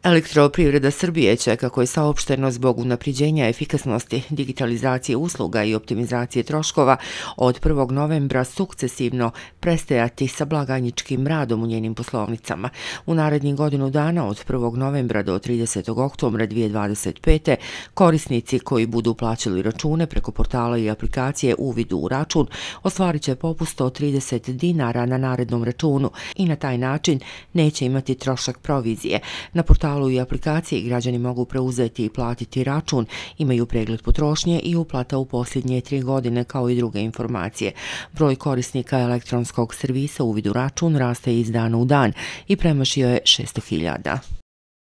Elektroprivreda Srbije će, kako je saopšteno, zbog unapređenja efikasnosti, digitalizacije usluga i optimizacije troškova od 1. novembra sukcesivno prestajati sa blagajničkim radom u njenim poslovnicama. U narednih godinu dana od 1. novembra do 30. oktobra 2025. korisnici koji budu plaćali račune preko portala i aplikacije Uvidu u račun ostvarit će popust od 30 dinara na narednom računu i na taj način neće imati trošak provizije. Na portalu i aplikaciji građani mogu preuzeti i platiti račun, imaju pregled potrošnje i uplata u posljednje 3 godine kao i druge informacije. Broj korisnika elektronskog servisa Uvid u račun raste iz dana u dan i premašio je 600.000.